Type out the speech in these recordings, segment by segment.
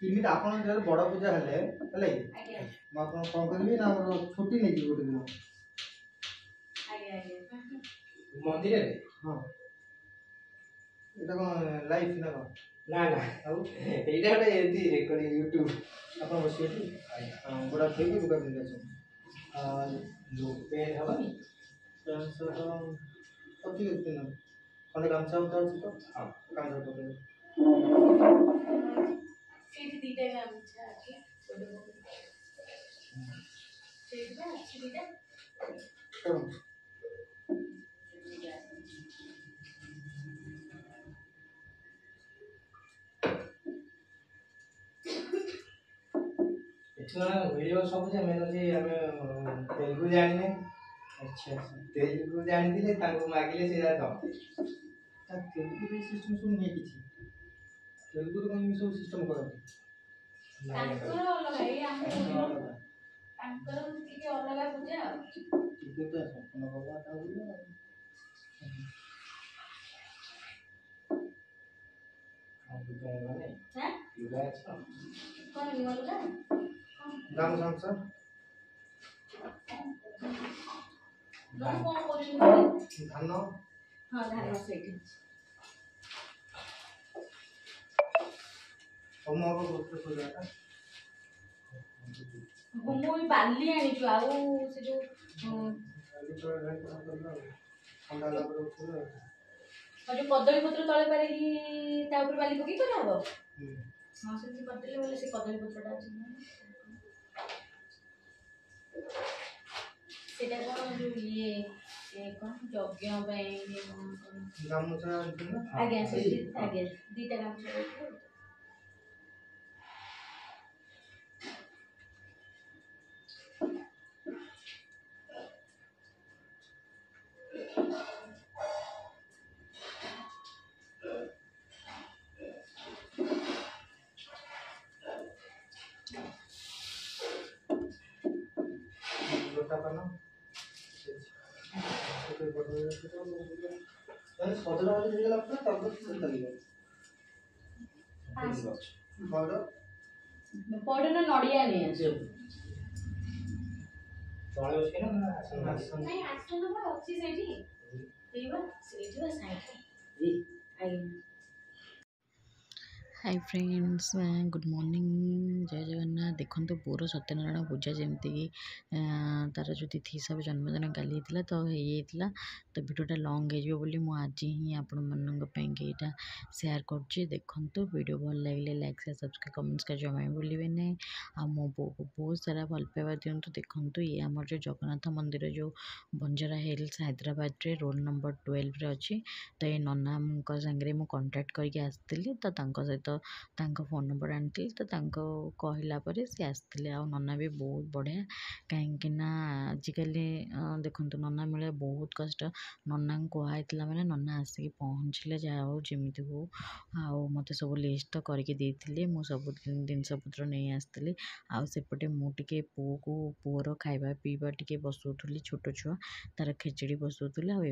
କେମିତି ଆପଣଙ୍କ ଜାଗାରେ ବଡ଼ ପୂଜା ହେଲେ ହେଲା କି, ମୁଁ ଆପଣ କ'ଣ କରିବି ନା ଆମର ଛୁଟି ନେଇଯିବି ଗୋଟେ ଦିନ। ମନ୍ଦିରରେ? ହଁ, ଏଇଟା କ'ଣ ଲାଇଫ୍ ନା କ'ଣ? ନା ନା, ଆଉ ଏଇଟା ଗୋଟେ ଏମିତି ରେକର୍ଡିଂ ୟୁଟ୍ୟୁବ। ଆପଣ ବସିବେ ଏଠି, ଗୋଡ଼ ଥୋଇକି ଲୁଗା ପିନ୍ଧିକି ଆସନ୍ତୁ। ପେନ୍ ହେବନି? ପ୍ୟାଣ୍ଟ ସାର୍ଟ ହଉ, ଠିକ୍ ଅଛି, ପିନ୍ଧନ୍ତୁ। ଖଣ୍ଡେ ଗାମୁଛା ତ ଅଛି ତ? ହଁ। ଗାମୁଛା ପକେଇବେ। ସେଇଠି ଦିଟା ଗାମୁଛା ଅଛି, ସେଇଠି ବା ଅଛି ଦିଟା। କରନ୍ତୁ। ଏଠି ମାନେ ମିଳିବ ସବୁ ଯେ, ମେନ୍ ହେଉଛି ଆମେ ତେଲୁଗୁ ଜାଣିନେ। ଆଚ୍ଛା ଆଚ୍ଛା। ତେଲୁଗୁ ଜାଣିଥିଲେ ତାଙ୍କୁ ମାଗିଲେ ସେ ଯାହା ଦବ। ତା ତେଲୁଗୁରେ ସିଷ୍ଟମ୍ ସବୁ ନୁହେଁ କିଛି। ତେଲୁଗୁରେ କ'ଣ ଏମିତି ସବୁ ସିଷ୍ଟମ୍ କରନ୍ତି? ତାଙ୍କର ଅଲଗା, ଏଇ ଆମ ତାଙ୍କର ଟିକେ ଅଲଗା ପୂଜା ଆଉ। ଟିକେ ତ ସମ୍ପୂର୍ଣ୍ଣ ଅଲଗା ହୁଏ ଆଉ। ପୂଜା ମାନେ ଲୁଗା ଅଛି? କ'ଣ ନୂଆ ଲୁଗା? ଗାମୁଛା ଗାମୁଛା। କଣ କରୁଛନ୍ତି? ଧାନ। ହଁ, ଧାନ ସେଇଠି ଅଛି। ହୋମ ହବ ଗୋତ୍ର ପୂଜାଟା। ମୁଁ ବି ବାଲି ଆଣିଛୁ ଆଉ ସେ ଯୋଉ ବାଲି ତଳେ ଢାଳି କଣ କରିବା ଆଉ, ଥଣ୍ଡା ହେଲା ପରେ ଉଠିବ ଆଉ। ଆଉ ଯୋଉ କଦଳୀ ପତ୍ର ତଳେ ପାରିକି ତା ଉପରେ ବାଲି ପକେଇ କରାହବ। ହଁ, ସେମିତି କରିଦେଲେ ବୋଲେ ସେ କଦଳୀ ପତ୍ରଟା ଅଛି, ସେଇଟା କ'ଣ ଯୋଉ ଇଏ କ'ଣ ଯଜ୍ଞ ପାଇଁ କ'ଣ? ଗାମୁଛା ଆଣିଛନ୍ତି ନା? ଆଜ୍ଞା, ସେଇଠି ଆଜ୍ଞା ଦିଟା ଗାମୁଛା ରଖିବେ। ଲୋଟା ପାନ ମାନେ ସଜଡ଼ା ହେଇଗଲା ପରେ ତାପରେ ଚାଲିବ। ପଇଡ଼। ପଇଡ଼ ନା ନଡ଼ିଆ ନେଇ ଆସୁ। ତଳେ ବସିକି ନା ଆସନ? ନାଇଁ, ଆସନ ବା ଅଛି ସେଇଠି, ଏଇ ବା ସେଇଠି ବା ସାଇଡ଼ରେ। ଆଜ୍ଞା। ହାଇ ଫ୍ରେଣ୍ଡସ୍, ଗୁଡ଼୍ ମର୍ଣ୍ଣିଂ, ଜୟ ଜଗନ୍ନାଥ। ଦେଖନ୍ତୁ, ପୁଅର ସତ୍ୟନାରାୟଣ ପୂଜା ଯେମିତିକି ତା'ର ଯେଉଁ ତିଥି ହିସାବରେ ଜନ୍ମଦିନ କାଲି ହେଇଥିଲା ତ ହେଇଯାଇଥିଲା। ତ ଭିଡ଼ିଓଟା ଲଙ୍ଗ୍ ହେଇଯିବ ବୋଲି ମୁଁ ଆଜି ହିଁ ଆପଣମାନଙ୍କ ପାଇଁକି ଏଇଟା ସେୟାର କରୁଛି। ଦେଖନ୍ତୁ, ଭିଡ଼ିଓ ଭଲ ଲାଗିଲେ ଲାଇକ୍, ସେୟାର, ସବସ୍କ୍ରାଇବ୍, କମେଣ୍ଟସ୍ କରିବା ଜମା ବି ଭୁଲିବେ ନାହିଁ। ଆଉ ମୋ ବୋଉକୁ ବହୁତ ସାରା ଭଲ ପାଇବା ଦିଅନ୍ତୁ। ଦେଖନ୍ତୁ, ଇଏ ଆମର ଯେଉଁ ଜଗନ୍ନାଥ ମନ୍ଦିର ଯେଉଁ ବଞ୍ଜାରା ହିଲ୍ସ ହାଇଦ୍ରାବାଦରେ ରୋଲ୍ ନମ୍ବର 12ରେ ଅଛି। ତ ଏ ନନାଙ୍କ ସାଙ୍ଗରେ ମୁଁ କଣ୍ଟାକ୍ଟ କରିକି ଆସିଥିଲି, ତ ତାଙ୍କ ସହିତ ତାଙ୍କ ଫୋନ୍ ନମ୍ବର ଆଣିଥିଲି, ତ ତାଙ୍କ କହିଲା ପରେ ସେ ଆସିଥିଲେ। ଆଉ ନନା ବି ବହୁତ ବଢ଼ିଆ, କାହିଁକିନା ଆଜିକାଲି ଦେଖନ୍ତୁ ନନା ମିଳିବା ବହୁତ କଷ୍ଟ। ନନାଙ୍କୁ କୁହାହେଇଥିଲା ମାନେ ନନା ଆସିକି ପହଞ୍ଚିଲେ, ଯାହା ହଉ ଯେମିତି ହଉ। ଆଉ ମୋତେ ସବୁ ଲିଷ୍ଟ ତ କରିକି ଦେଇଥିଲେ, ମୁଁ ସବୁ ଜିନିଷପତ୍ର ନେଇ ଆସିଥିଲି। ଆଉ ସେପଟେ ମୁଁ ଟିକେ ପୁଅକୁ, ପୁଅର ଖାଇବା ପିଇବା ଟିକେ ବସଉଥିଲି, ଛୋଟ ଛୁଆ, ତା'ର ଖେଚେଡ଼ି ବସଉଥିଲି। ଆଉ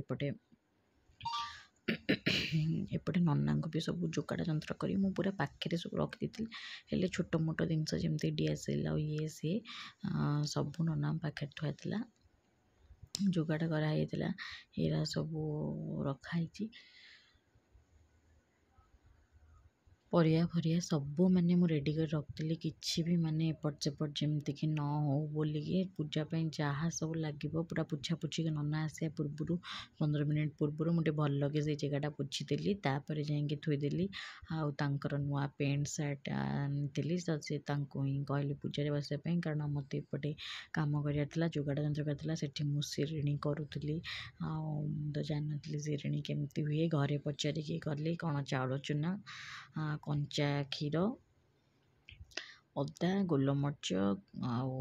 ଏପଟେ ନନାଙ୍କୁ ବି ସବୁ ଯୋଗାଡ଼ ଯନ୍ତ୍ର କରି ମୁଁ ପୁରା ପାଖରେ ସବୁ ରଖିଦେଇଥିଲି। ହେଲେ ଛୋଟ ମୋଟ ଜିନିଷ ଯେମିତି ଡିଆସିଲ୍ ଆଉ ଇଏ ସିଏ ସବୁ ନନାଙ୍କ ପାଖରେ ଥୁଆ ଥିଲା, ଯୋଗାଡ଼ କରାହେଇଥିଲା, ଏରା ସବୁ ରଖାହେଇଛି। ପରିବା ଫରିବା ସବୁ ମାନେ ମୁଁ ରେଡ଼ି କରି ରଖିଥିଲି, କିଛି ବି ମାନେ ଏପଟ ସେପଟ ଯେମିତିକି ନ ହଉ ବୋଲିକି। ପୂଜା ପାଇଁ ଯାହା ସବୁ ଲାଗିବ ପୁରା ପୋଛାପୋଛି ନନା ଆସିବା ପୂର୍ବରୁ 15 ମିନିଟ୍ ପୂର୍ବରୁ ମୁଁ ଟିକେ ଭଲକି ସେଇ ଜାଗାଟା ପୋଛିଦେଲି, ତାପରେ ଯାଇକି ଥୋଇଦେଲି। ଆଉ ତାଙ୍କର ନୂଆ ପ୍ୟାଣ୍ଟ ସାର୍ଟ ଆଣିଥିଲି, ତ ସେ ତାଙ୍କୁ ହିଁ କହିଲି ପୂଜାରେ ବସିବା ପାଇଁ, କାରଣ ମୋତେ ଏପଟେ କାମ କରିବାର ଥିଲା, ଯୋଗାଡ଼ ଯନ୍ତ୍ର କରିବାର ଥିଲା। ସେଠି ମୁଁ ଶିରିଣୀ କରୁଥିଲି, ଆଉ ମୁଁ ତ ଜାଣିନଥିଲି ଶିରିଣୀ କେମିତି ହୁଏ, ଘରେ ପଚାରିକି କଲି। କ'ଣ ଚାଉଳ ଚୁନା, କଞ୍ଚା କ୍ଷୀର, ଅଦା, ଗୋଲମରିଚ ଆଉ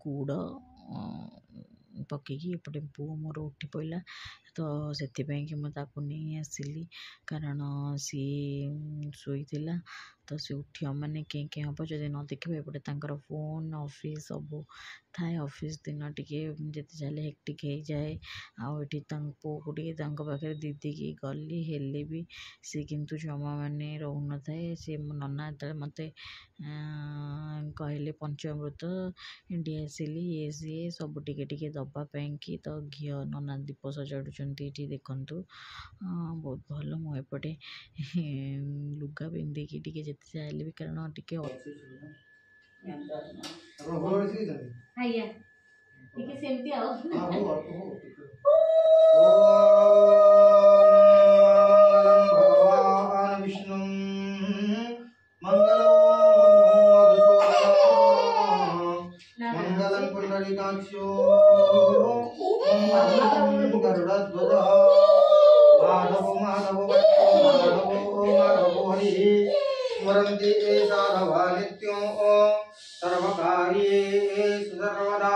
ଗୁଡ଼ ପକେଇକି। ଏପଟେ ପୁଅ ମୋର ଉଠି ପଡ଼ିଲା, ତ ସେଥିପାଇଁକି ମୁଁ ତାକୁ ନେଇ ଆସିଲି, କାରଣ ସିଏ ଶୋଇଥିଲା। ତ ସେ ଉଠିବ ମାନେ କେଁ କେଁ ହେବ ଯଦି ନ ଦେଖିବ। ଏପଟେ ତାଙ୍କର ଫୋନ୍, ଅଫିସ୍ ସବୁ ଥାଏ। ଅଫିସ୍ ଦିନ ଟିକେ ଯେତେ ଯାହାହେଲେ ହେକ୍ଟିକ୍ ହେଇଯାଏ। ଆଉ ଏଠି ତାଙ୍କ ପୁଅକୁ ଟିକେ ତାଙ୍କ ପାଖରେ ଦେଇ ଦେଇକି ଗଲି, ହେଲେ ବି ସେ କିନ୍ତୁ ଜମା ମାନେ ରହୁନଥାଏ। ସେ ମୋ ନନା ଯେତେବେଳେ ମୋତେ କହିଲେ ପଞ୍ଚମୃତ, ଡିଆସିଲି, ଇଏ ସିଏ ସବୁ ଟିକେ ଟିକେ ଦେବା ପାଇଁକି, ତ ଘିଅ ନନା ଦୀପ ସଜାଡ଼ୁଛନ୍ତି ଏଠି ଦେଖନ୍ତୁ, ବହୁତ ଭଲ। ମୁଁ ଏପଟେ ଲୁଗା ପିନ୍ଧିକି ଟିକେ ଯେତେ ଯାହା ହେଲେ ବି, କାରଣ ଟିକେ ଆପଣ ଭଲ ଶିଖିଛନ୍ତି? ଆଜ୍ଞା, ଟିକେ ସେମିତି ଆଉ। ହଁ, ହଉ, ଅଳ୍ପ ହଉ ଟିକେ। ଭଗବାନ ବିଷ୍ଣୁ ମଙ୍ଗଳ ମଙ୍ଗଳଂ ପୁଣ୍ଡରୀକାକ୍ଷೋ ମଙ୍ଗଳଂ ଗରୁଡ଼ଧ୍ୱଜ ମାଧବ ମାଧବ ମାଧବ ମାଧବ ହରି ସ୍ମରନ୍ତି ଏ ସାଧବା ନିତ୍ୟ ସର୍ବକାର୍ୟେଷୁ ସର୍ବଦା।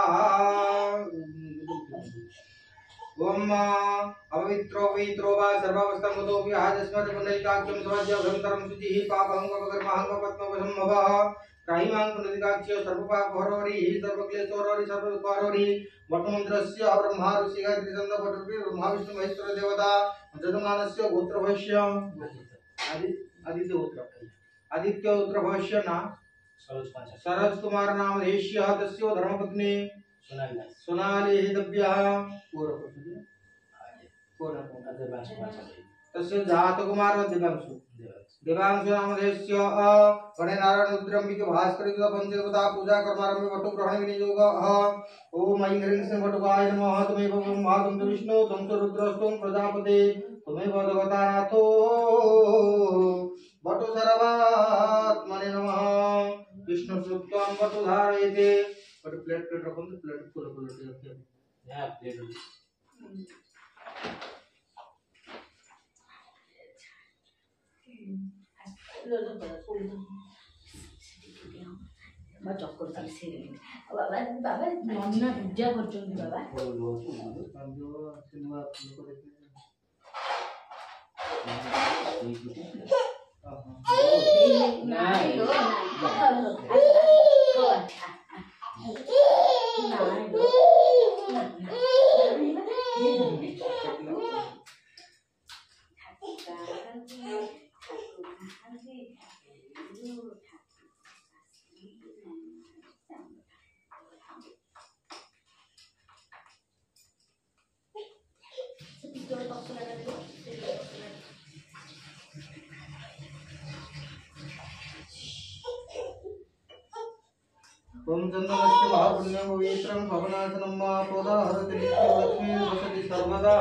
ॐ अपवित्रो पवित्रो वा सर्वावस्थां आजस्मत् पुण्डरीकाक्षं समज्य शुचिः पापहं पकर्माहं पद्मवसंभवः त्राहिमां पुण्डरीकाक्ष सर्वपापहरोरि सर्वक्लेशहरोरि सर्वदुःखहरोरि। वटुमन्त्रस्य ब्रह्मा ऋषि गायत्री छन्द पटुपि ब्रह्मा विष्णु महेश्वर देवता यजमानस्य गोत्रभस्य आदित्य गोत्र आदित्य गोत्रभस्य ना सरोज कुमार नामधेयस्य तस्य धर्मपत्नी सोनाली दिव्यः तस्य जातकुमार देवांशु देवांशु नामधेयस्य गणेनारायण रुद्रम्बिके भास्कर पंचदेवता पूजा कर्मारंभे वटुग्रहण विनियोग। ओम ऐं ह्रीं श्रीं वटुकाय नमः। त्वमेव ब्रह्मा त्वं च विष्णु त्वं च रुद्रस्त्वं प्रजापते त्वमेव जगतानाथो वटु सर्वात्मने नमः। विष्णु सुक्तं वटु धारयते। ଗୋଟେ ପ୍ଲେଟ୍ ପ୍ଲେଟ୍ ରଖନ୍ତୁ, ପ୍ଲେଟ୍ ଫୁଲ ଫୁଲ ଟିକେ ରଖିବା। ଚକର ସେ ବାବା, ବାବା ନନା ପୂଜା କରୁଛନ୍ତି ବାବା। ସେ ନୂଆ ଲୋକ ଦେଖିଲେ। ନାଇଁ ଲୋ, ନାଇଁ ଲୋ। ओम चंदनस्य महापुण्यं पवित्रं भवनाशनं मापोदाहरति नित्यलक्ष्मी वसति सर्वदा।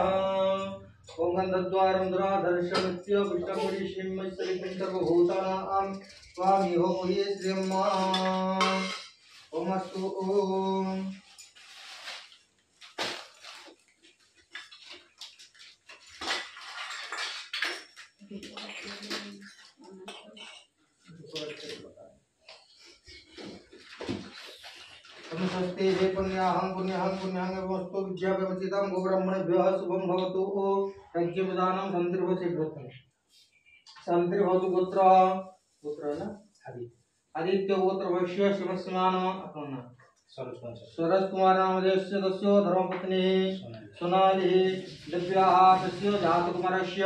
ओम गन्धद्वारं दुराधर्षमस्य विष्णुं ऋषिं सर्वभूतानां स्वामिहो मुहे श्रियं मा। ओम अस्तु ओम। स्वस्ति हे पुण्याहं पुण्याहं पुण्याहं एवमस्तु विद्याव्यवचितं गोब्राह्मणेभ्यः शुभं भवतु। यज्ञविधानं सन्तिर्भवति सन्तिर्भवतु गोत्र गोत्र है ना आदित्य गोत्र भविष्य शिवस्मान अपना सरोज कुमार नामधेयस्य तस्य धर्मपत्नी सोनाली दिव्याः तस्य जातकुमारस्य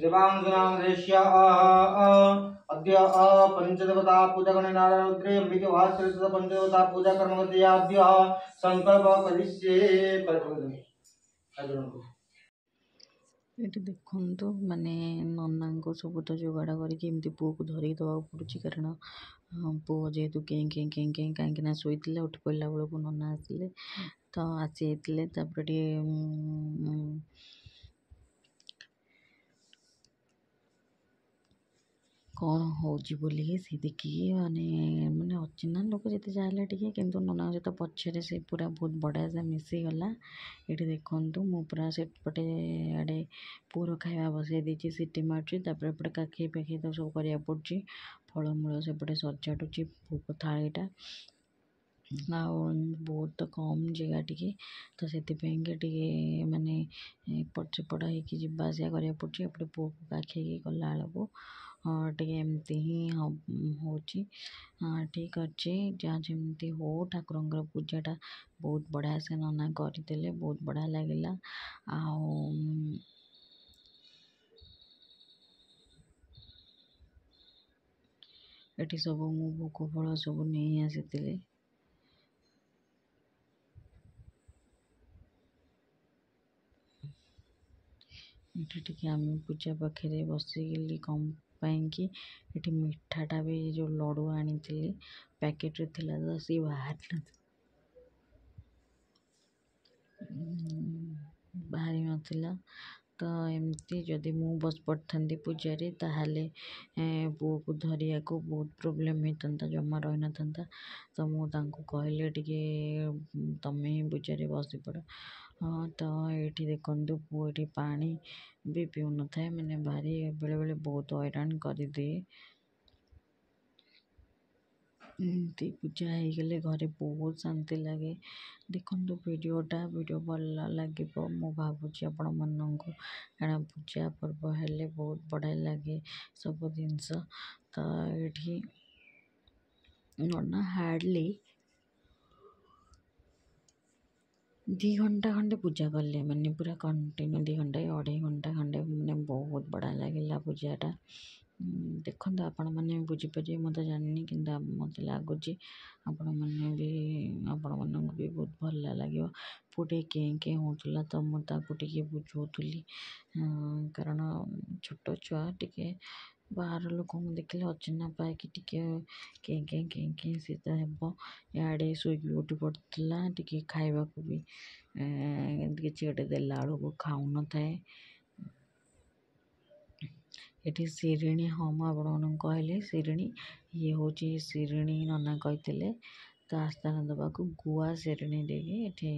देवांशु नामधेयस्य अद्य पंचदेवता पूजा गणे नारायण रुद्रे अंबिके भास्कर पंचदेवता पूजा कर्म अद्य संकल्प करिष्ये। ଏଠି ଦେଖନ୍ତୁ, ମାନେ ନନାଙ୍କୁ ସବୁ ତ ଯୋଗାଡ଼ କରିକି ଏମିତି ପୁଅକୁ ଧରିକି ଦେବାକୁ ପଡ଼ୁଛି, କାରଣ ପୁଅ ଯେହେତୁ କେଁ କେଁ କେଁ କେଁ, କାହିଁକିନା ଶୋଇଥିଲା, ଉଠି ପଡ଼ିଲା ବେଳକୁ ନନା ଆସିଲେ, ତ ଆସିଯାଇଥିଲେ। ତାପରେ ଟିକେ କ'ଣ ହେଉଛି ବୋଲିକି ସେ ଦେଖିକି ମାନେ ମାନେ ଅଚିହ୍ନା ଲୋକ ଯେତେ ଯାହା ହେଲେ ଟିକେ, କିନ୍ତୁ ନନାଙ୍କ ସହିତ ପଛରେ ସେ ପୁରା ବହୁତ ବଢ଼ିଆ ସେ ମିଶିଗଲା। ଏଠି ଦେଖନ୍ତୁ, ମୁଁ ପୁରା ସେପଟେ ଆଡ଼େ ପୁଅର ଖାଇବା ବସାଇ ଦେଇଛି, ସିଟି ମାରୁଛି। ତାପରେ ଏପଟେ କାଖେଇ ପାଖେଇ ତାକୁ ସବୁ କରିବାକୁ ପଡ଼ୁଛି। ଫଳମୂଳ ସେପଟେ ସଜାଡ଼ୁଛି ଭୋଗ ଥାଳିଟା। ଆଉ ବହୁତ କମ୍ ଜାଗା ଟିକେ, ତ ସେଥିପାଇଁକି ଟିକେ ମାନେ ଏପଟ ସେପଟ ହେଇକି ଯିବା ଆସିବା କରିବାକୁ ପଡ଼ୁଛି। ଏପଟେ ପୁଅକୁ କାଖେଇକି ଗଲାବେଳକୁ ଟିକେ ଏମିତି ହିଁ ହେଉଛି। ଠିକ୍ ଅଛି, ଯାହା ଯେମିତି ହଉ, ଠାକୁରଙ୍କର ପୂଜାଟା ବହୁତ ବଢ଼ିଆ ସେ ନନା କରିଦେଲେ, ବହୁତ ବଢ଼ିଆ ଲାଗିଲା। ଆଉ ଏଠି ସବୁ ମୁଁ ଭୋଗ ଫଳ ସବୁ ନେଇ ଆସିଥିଲି। ଏଠି ଟିକେ ଆମେ ପୂଜା ପାଖରେ ବସିଗଲି, କଣ ପାଇଁକି ଏଠି ମିଠାଟା ବି ଯେଉଁ ଲଡ଼ୁ ଆଣିଥିଲି ପ୍ୟାକେଟ୍ରେ ଥିଲା, ତ ସିଏ ବାହାରି ନଥିଲା। ତ ଏମିତି ଯଦି ମୁଁ ବସି ପଡ଼ିଥାନ୍ତି ପୂଜାରେ, ତାହେଲେ ପୁଅକୁ ଧରିବାକୁ ବହୁତ ପ୍ରୋବ୍ଲେମ୍ ହେଇଥାନ୍ତା, ଜମା ରହିନଥାନ୍ତା। ତ ମୁଁ ତାଙ୍କୁ କହିଲି ଟିକେ ତମେ ହିଁ ପୂଜାରେ ବସିପଡ଼। ହଁ, ତ ଏଇଠି ଦେଖନ୍ତୁ, ପୁଅ ଏଠି ପାଣି ବି ପିଉନଥାଏ, ମାନେ ଭାରି ବେଳେବେଳେ ବହୁତ ହଇରାଣ କରିଦିଏ। ଏମିତି ପୂଜା ହେଇଗଲେ ଘରେ ବହୁତ ଶାନ୍ତି ଲାଗେ। ଦେଖନ୍ତୁ ଭିଡ଼ିଓଟା, ଭିଡ଼ିଓ ଭଲ ଲାଗିବ ମୁଁ ଭାବୁଛି ଆପଣମାନଙ୍କୁ, କାରଣ ପୂଜା ପର୍ବ ହେଲେ ବହୁତ ବଢ଼ିଆ ଲାଗେ ସବୁ ଜିନିଷ। ତ ଏଇଠି ନନା ହାର୍ଡ଼ଲି 2 ଘଣ୍ଟା ଖଣ୍ଡେ ପୂଜା କଲେ, ମାନେ ପୁରା କଣ୍ଟିନ୍ୟୁ 2 ଘଣ୍ଟା କି 2.5 ଘଣ୍ଟା ଖଣ୍ଡେ, ମାନେ ବହୁତ ବଢ଼ିଆ ଲାଗିଲା ପୂଜାଟା। ଦେଖନ୍ତୁ ଆପଣମାନେ ବି ବୁଝିପାରିବେ, ମୁଁ ତ ଜାଣିନି, କିନ୍ତୁ ମୋତେ ଲାଗୁଛି ଆପଣମାନଙ୍କୁ ବି ବହୁତ ଭଲ ଲାଗିବ। ପୁଅ ଟିକେ କେଁ କେଁ ହେଉଥିଲା, ତ ମୁଁ ତାକୁ ଟିକେ ବୁଝାଉଥିଲି, କାରଣ ଛୋଟ ଛୁଆ ଟିକେ ବାହାର ଲୋକଙ୍କୁ ଦେଖିଲେ ଅଚିହ୍ନା ପାଇକି ଟିକେ କେଁ କେଁ କେଁ କେଁ ସେ ତ ହେବ। ଇଆଡ଼େ ଶୋଇକି ଉଠି ପଡ଼ୁଥିଲା, ଟିକେ ଖାଇବାକୁ ବି କିଛି ଗୋଟେ ଦେଲା ବେଳକୁ ଖାଉନଥାଏ। ଏଠି ଶିରିଣୀ, ହଁ ମୁଁ ଆପଣମାନଙ୍କୁ କହିଲି ଶିରିଣୀ, ଇଏ ହେଉଛି ଶିରିଣୀ, ନନା କହିଥିଲେ ତ ଆସ୍ଥାନ ଦେବାକୁ ଗୁଆ ଶିରିଣୀ ଦେଇକି ଏଠି।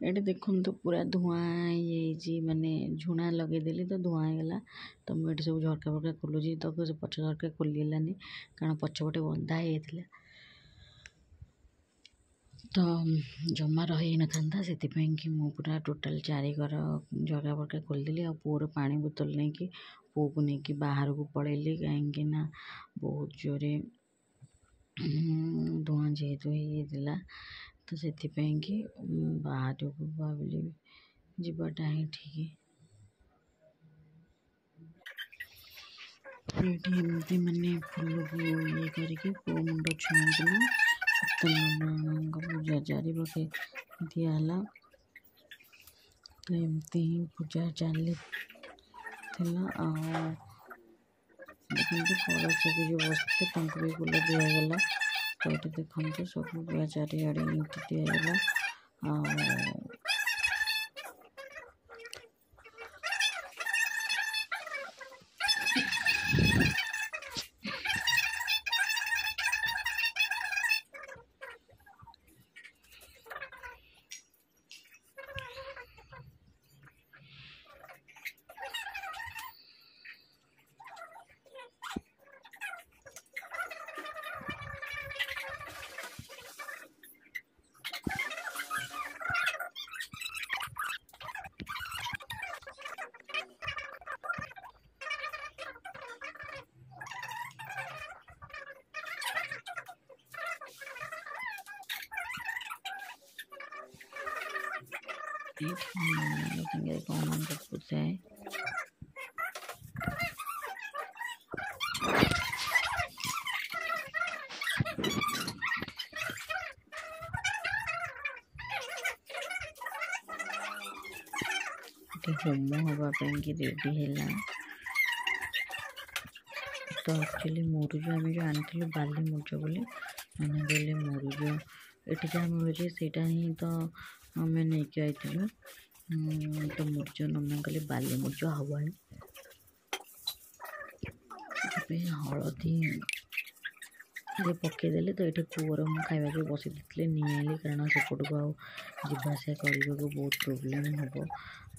ଏଠି ଦେଖନ୍ତୁ ପୁରା ଧୂଆଁ ହେଇଯାଇଛି, ମାନେ ଝୁଣା ଲଗେଇଦେଲି ତ ଧୂଆଁ ହେଇଗଲା। ତ ମୁଁ ଏଠି ସବୁ ଝରକା ଫରକା ଖୋଲୁଛି, ତ ସେ ପଛ ଝରକା ଖୋଲିହେଲାନି କାରଣ ପଛପଟେ ବନ୍ଧା ହେଇଯାଇଥିଲା, ତ ଜମା ରହି ହେଇନଥାନ୍ତା। ସେଥିପାଇଁ କି ମୁଁ ପୁରା ଟୋଟାଲ୍ ଚାରିକର ଝରକା ଫରକା ଖୋଲିଦେଲି। ଆଉ ପୁଅର ପାଣି ବୋତଲ ନେଇକି ପୁଅକୁ ନେଇକି ବାହାରକୁ ପଳେଇଲି, କାହିଁକି ନା ବହୁତ ଜୋରେ ଧୂଆଁ ଯେହେତୁ ହେଇଯାଇଥିଲା, ତ ସେଥିପାଇଁ କି ବାହାରକୁ ଭାବିଲି ଯିବାଟା ହିଁ ଠିକ୍। ଏଇଠି ଏମିତି ମାନେ ଫୁଲକୁ ଇଏ କରିକି ପୁଅ ମୁଣ୍ଡ ଛୁଇଁକିନା ସତ୍ୟନାରାୟଣଙ୍କ ପୂଜା ଚାରିପାଖେ ଦିଆହେଲା। ତ ଏମିତି ହିଁ ପୂଜା ଚାଲିଥିଲା। ଆଉ ଦେଖନ୍ତୁ କଳସ ବି ଯେଉଁ ବସିଥିଲେ ତାଙ୍କୁ ବି ଫୁଲ ଦିଆଗଲା। ତ ଏଠି ଦେଖନ୍ତୁ ସବୁ ପୁରା ଚାରିଆଡ଼େ ଏମିତି ଦିଆଗଲା। ଆଉ ଏଇଠି ସାଙ୍ଗରେ କ'ଣ ଗପୁଥାଏ। ଏଠି ହୋମ ହେବା ପାଇଁକି ରେଡ଼ି ହେଲା। ତ ଆକ୍ଚୁଆଲି ମୁରୁଜ ଆମେ ଯେଉଁ ଆଣିଥିଲୁ ବାଲି ମୁରୁଜ ବୋଲି, ମାନେ କହିଲେ ମୁରୁଜ ଏଠି ଯାହା ମିଳୁଛି ସେଇଟା ହିଁ ତ ଆମେ ନେଇକି ଆଇଥିଲୁ। ତ ମୁରୁଜ ନନା କହିଲେ ବାଲି ମୁରୁଜ ହେବନି, ସେଥିପାଇଁ ହଳଦୀ ଟିକେ ପକେଇଦେଲେ। ତ ଏଠି ପୁଅର ମୁଁ ଖାଇବାକୁ ବସେଇ ଦେଇଥିଲି, ନିଆଁଲି, କାରଣ ସେପଟକୁ ଆଉ ଯିବା ଆସିବା କରିବାକୁ ବହୁତ ପ୍ରୋବ୍ଲେମ୍ ହେବ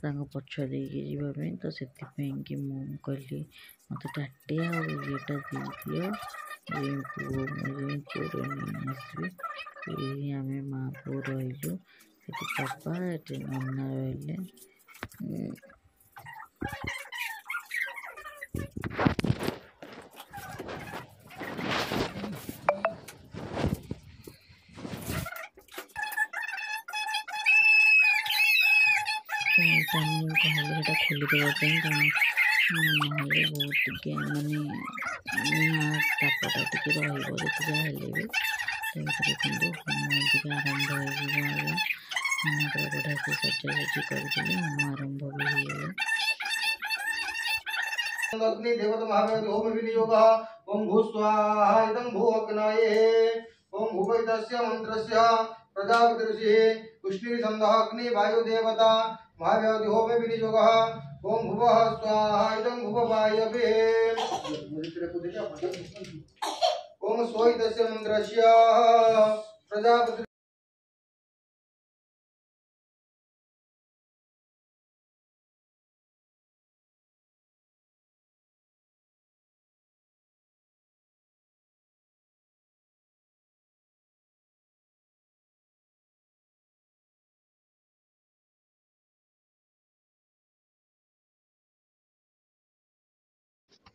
ତାଙ୍କ ପଛ ଦେଇକି ଯିବା ପାଇଁ। ତ ସେଥିପାଇଁ କି ମୁଁ କହିଲି ମୋତେ ତାଟିଆ ଆଉ ଇଏଟା ଦେଇଦିଅ, ପୁଅ, ମୁଁ ଯାଇ ପୁଅର ନେଇ ଆସିବି। ଏଇ ଆମେ ମା ପୁଅ ରହିଲୁ ସେଠି, ବାପା ଏଠି, ନନା ରହିଲେ। ତ ଏଇଟା ମୁଁ କହିଲି ସେଇଟା ଖୋଲିଦେବା ପାଇଁ, କାରଣ ନହେଲେ ବହୁତ ଟିକେ ମାନେ ନିଆଁ ତାପଟା ଟିକେ ରହିବ ଯେତେ ଯାହା ହେଲେ ବି। ତ ଏଇଠି ଦେଖନ୍ତୁ, ହୋମ ଟିକେ ଆରମ୍ଭ ହେଇଯିବ। ଆଜ୍ଞା, ନନା ପୁରା ବଢ଼ିଆ ସେ ସଜାସଜି କରିଥିଲେ। ହୋମ ଆରମ୍ଭ ବି ହେଇଗଲା। ଅଗ୍ନି ଦେବତା ମହାବେଦ ହୋମ ବିନିଯୋଗ। ଓಂ ଭୂ ସ୍ୱାହା ଇଦं ଭୂ ଅଗ୍ନये। ଓಂ ଭୂପୈତस्य ମନ୍ତ୍ରସ୍ୟ ପ୍ରଜାପତି ଋଷିः ଉଷ୍ଣୀର୍ ଅଗ୍ନି ବାୟୁ ଦେବତା ମହାବେଦ ହୋମ ବିନିଯୋଗ। ଓಂ ଭୁବଃ ସ୍ୱାହା ଇଦं ଭୁବବାୟବେ। ଓಂ ସ୍ୱୈତस्य ମନ୍ତ୍ରସ୍ୟ ପ୍ରଜାପତି।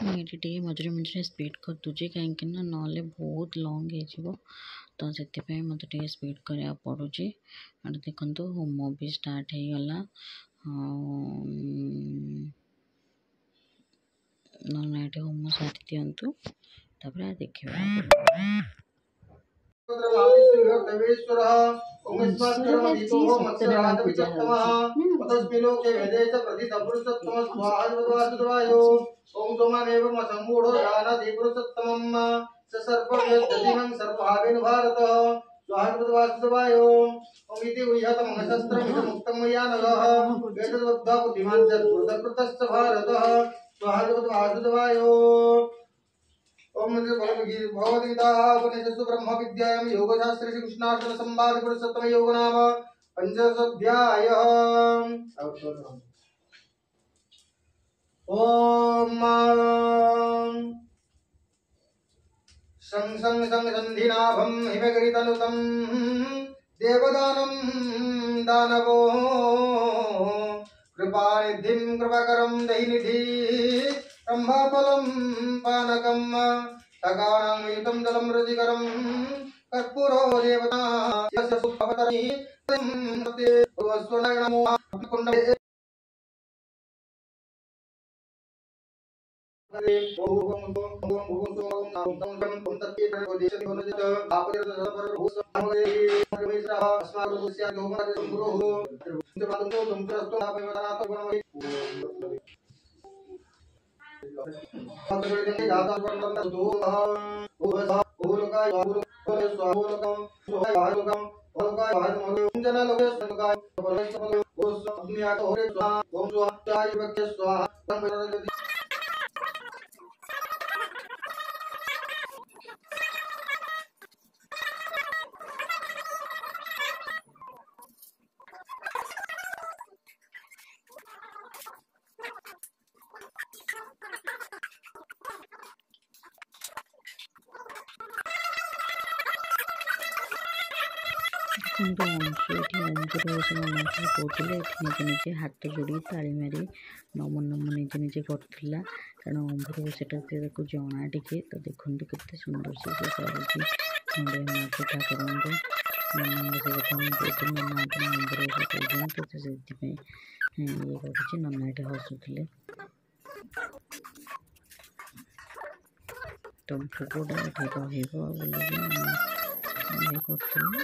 ମୁଁ ଏଇଠି ଟିକେ ମଝିରେ ମଝିରେ ସ୍ପିଡ଼୍ କରିଦେଉଛି, କାହିଁକି ନା ନହେଲେ ବହୁତ ଲଙ୍ଗ୍ ହେଇଯିବ। ତ ସେଥିପାଇଁ ମୋତେ ଟିକେ ସ୍ପିଡ଼୍ କରିବାକୁ ପଡ଼ୁଛି। ଏଠି ଦେଖନ୍ତୁ, ହୋମ ବି ଷ୍ଟାର୍ଟ ହେଇଗଲା। ଆଉ ନନା ଏଠି ହୋମ ସାରି ଦିଅନ୍ତୁ, ତାପରେ ଦେଖିବା। ଅଂଶୁରେ ଆଜି ସତ୍ୟନାରାୟଣ ପୂଜା ହେଉଛି। ତସ୍ମିନ୍ ଭେଦେ ଚ ପ୍ରଥିତ ପୁରୁଷୋତ୍ତମ ସ୍ୱାହା। ଓಂ ସୋମାନେବ ସମ୍ମୂଢ଼ ଜାନାତି ପୁରୁଷୋତ୍ତମମ୍ ସ ସର୍ପବ୍ୟଦଧିମଂ ସର୍ପଭାବେନ ଭାରତ ସ୍ୱାହା ବାସୁଦେବାୟ। ଓಂ ଇତି ଗୁହ୍ୟତମଂ ଶସ୍ତ୍ରମିଦं ମୁକ୍तं ମୟା ନଘः ଏତଦ୍ବଦ୍ଧ୍वा ବୁଦ୍ଧିମାन् ସତ୍କୃତକୃତଶ୍ଚ ଭାରତ ସ୍ୱାହା ବାସୁଦେବାୟ। ओम भगवद्गीता उपनिषत्सु ब्रह्म विद्यायां योगशास्त्रे श्री कृष्णार्जुन संवाद पुरुषोत्तम योग नाम पंचदशाध्याय। ओम सं सं सं सन्धिनाभं हिमगिरितनुतं देवदानं दानवो कृपानिधिं कृपाकरं दहिनिधि ब्रह्मफलं पानकं सगानां युतं जलं रुचिकरं कर्पूरो देवता। स्वाहा। ଦେଖନ୍ତୁ, ଅଂଶୁ ଏଠି ଅଂଶୁର ମନ୍ତ୍ର କହୁଥିଲେ। ଏଠି ନିଜେ ନିଜେ ହାତ ଯୋଡ଼ି ତାଳି ମାରି ନମ ନମ ନିଜେ ନିଜେ କରୁଥିଲା, କାରଣ ଅମ୍ଭୁର ସେଟା ତାକୁ ଜଣା ଟିକେ। ତ ଦେଖନ୍ତୁ, କେତେ ସୁନ୍ଦର ସେ କରୁଛି ନଡ଼ିଆ ମାରୁଛି ଠାକୁରଙ୍କୁ। ନନାଙ୍କୁ ସେ କଥା ମୁଁ କହୁଥିଲି, ନନା ଆପଣ ଅମ୍ଭୁର କହୁଛନ୍ତି, ତ ସେଥିପାଇଁ ଇଏ କରୁଛି। ନନା ଏଠି ହସୁଥିଲେ। ତ ଭୋଗଟା ଏଠି ରହିବ ବୋଲିକି ଇଏ କରୁଥିଲେ,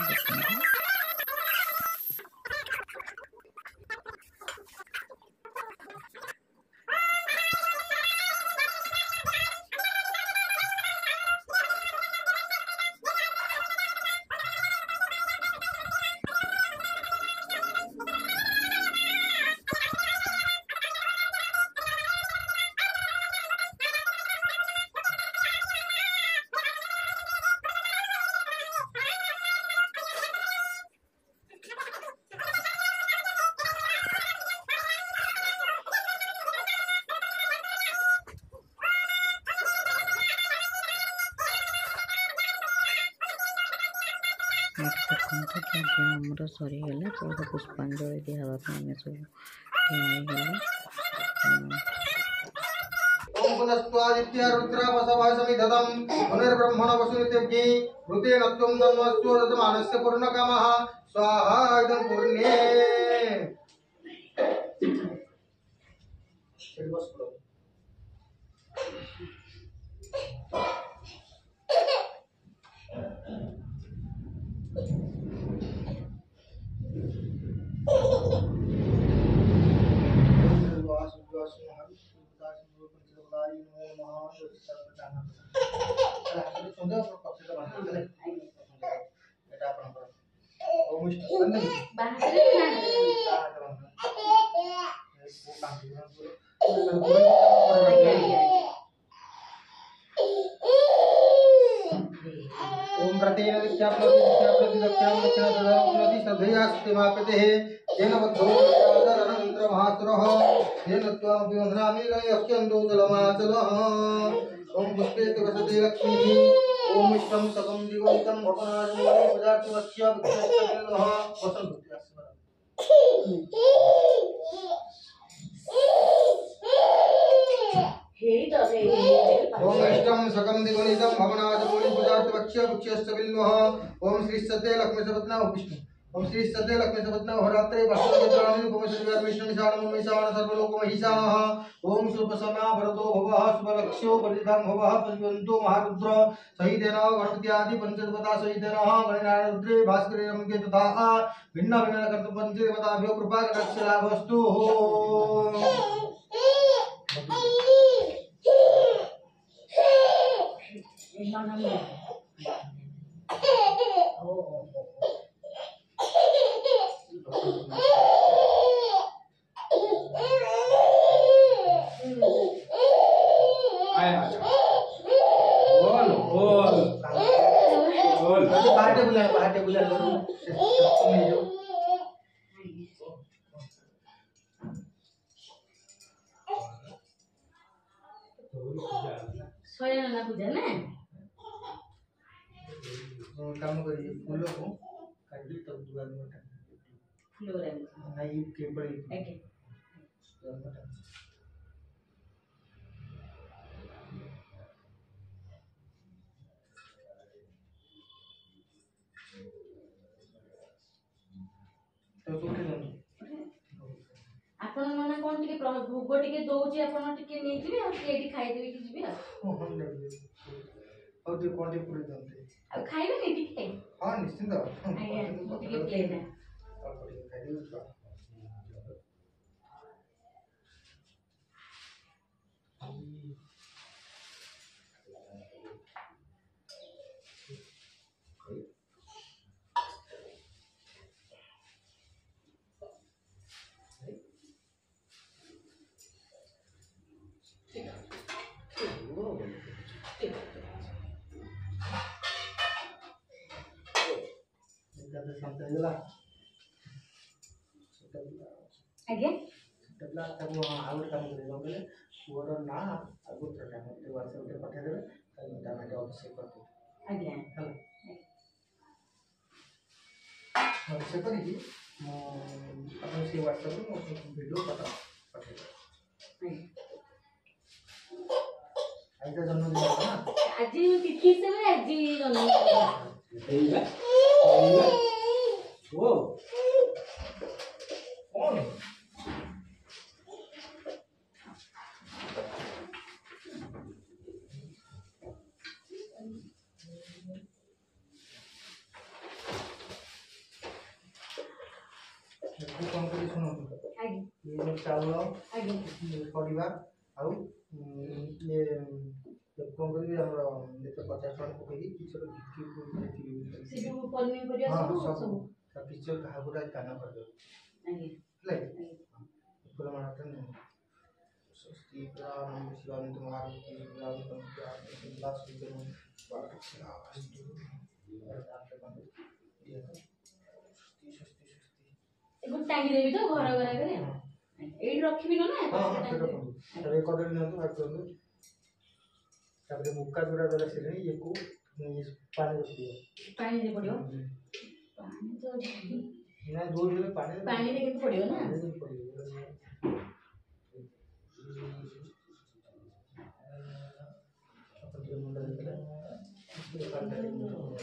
ଦେଖନ୍ତୁ। ଏଠି ଦେଖନ୍ତୁ ଯଜ୍ଞ ଆମର ସରିଗଲା। ତ ପୁଷ୍ପାଞ୍ଜଳି ଦିଆହେବା ପାଇଁ ଆମେ ସବୁ ଠିଆ ହେଇଗଲୁ। ओम पुनस्त्वादित्य रुद्रवसवः समिधतं पुनर्ब्रह्मण वसुनित्यज्ञे ऋतेन त्वं धर्मस्त्व ददमानस्य पूर्णकामः स्वाहा इदं पूर्णे। ओम प्रतेन दीक्षा प्रति दीक्षा प्रति दक्षिणां दक्षिणा ददाति श्रद्धया सत्यमापतेः येन बद्धो महासुरः येन त्वामपि वन्दनामि यस्यन्दो जलमाचलः। ओम पुष्पे वसते लक्ष्मीः ओम इष्टं सकं दिगन्तं भवनाजमूले पदार्थवस्य विघ्नस्तः वसन्तु। ओम इष्टं सकं दिगणितं भवनाजमूले पदार्थवस्य वृक्षस्य ओम श्री सत्य लक्ष्मी सपत्ना विष्णु ओम श्री सत्य लक्ष्मी सपत्ना होरात्रे वसुदेवानि उपमश्रीशान सर्वलोकमहिषाणः ओम सुप्रसन्ना भरतो भवः शुभलक्ष्यो परिधां भवः परिवन्तो महारुद्र सहितेन गणपत्यादि पंचदेवता सहितेन गणनारुद्रे भास्करे रमके तथा भिन्न भिन्न कर्तुं पंचदेवताभ्यो कृपा कटाक्षलाभस्तु। ପୂଜା ନା କାମ କରିବି ଫୁଲକୁ କାଟି ତାକୁ ଦୁଆର ଫୁଲ ଗୁଡ଼ା ନାଇଁ କେବଳ ଆଜ୍ଞା। ଆପଣ ନନା କଣ ଟିକେ ଭୋଗ ଟିକେ ଦଉଛି, ଆପଣ ଟିକେ ନେଇଯିବେ ଆଉ ଟିକେ ଏଇଠି ଖାଇଦେବେ କି ଯିବେ ଆଉ। ହଉ ଟିକେ କଣ ଟିକେ ପୁରେଇ ଦିଅନ୍ତୁ। ଆଉ ଖାଇବେନି ଟିକେ? ହଁ ନିଶ୍ଚିନ୍ତ। ଆଜ୍ଞା ମୁଁ ଟିକେ ପ୍ଲେନ୍। ଅଳ୍ପ ଟିକେ ଖାଇଦେବି। ଶାନ୍ତ ହେଇଗଲା। ଆଜ୍ଞା ଛୋଟ ପିଲା ତାକୁ ଆଉ ଗୋଟେ କାମ କରିବେ, କଣ କହିଲେ ପୁଅର ନାଁ ଆଉ ଗୋତ୍ରଟା ମୋତେ ହ୍ୱାଟ୍ସଆପ୍ରେ ପଠାଇଦେବେ, ତାକୁ ମୁଁ ତା ନାଁରେ ଅଭିଷେକ କରିଦେବି। ଆଜ୍ଞା ହେଲା, ଅଭିଷେକ କରିକି ମୁଁ ଆପଣ ସେଇ ହ୍ୱାଟ୍ସଆପ୍ରେ ମୁଁ ଭିଡ଼ିଓ ଫଟୋ ପଠାଇଦେବି। ଆଜି ତା ଜନ୍ମଦିନ ନା? ଆଜି ତିଥି ହିସାବରେ ଆଜି ଜନ୍ମଦିନ। କଣ କଣ କରି ଶୁଣନ୍ତୁ, ଇଏ ଯୋଉ ଚାଉଳ ପରିବା ଆଉ ଇଏ କଣ କରିବି ଆମର ଯେତେ 50 ଟଙ୍କା ପକେଇକି କିଛି ପନିପରିବା ସବୁ କିଛି କାହାକୁ ଗୋଟେ ଦାନ କରିଦେବେ ହେଲା କି? ଫୁଲ ମାଳଟା ନିଅନ୍ତୁ। ସ୍ୱସ୍ତି ପୁରାଣ ଶିବାନନ୍ଦ ଟାଙ୍ଗି ଦେବି ତ ଘର ଘର ଆଗରେ ଏଇଠି ରଖିବି ନା? ହଁ ରଖନ୍ତୁ। ତାପରେ କଦଳୀ ନିଅନ୍ତୁ, ଭାଗ କରନ୍ତୁ। ତାପରେ ମୁକା ଯୋଉଟା ରହିଲା ସେଠି ଇଏକୁ ପାଣି ରଖିଦିଅ। ପାଣିରେ ପଡ଼ିବ। ପାଣି ତ ନା, ଯୋଉଠି ହେଲେ ପାଣିରେ ପାଣିରେ କିନ୍ତୁ ପଡ଼ିବ ନା? ପାଣିରେ ପଡ଼ିବ। ଟିକେ ମୁଣ୍ଡ ଦେଇଦେଲେ, ଟିକେ ପାଣି ଢାଳି ମୁଣ୍ଡ।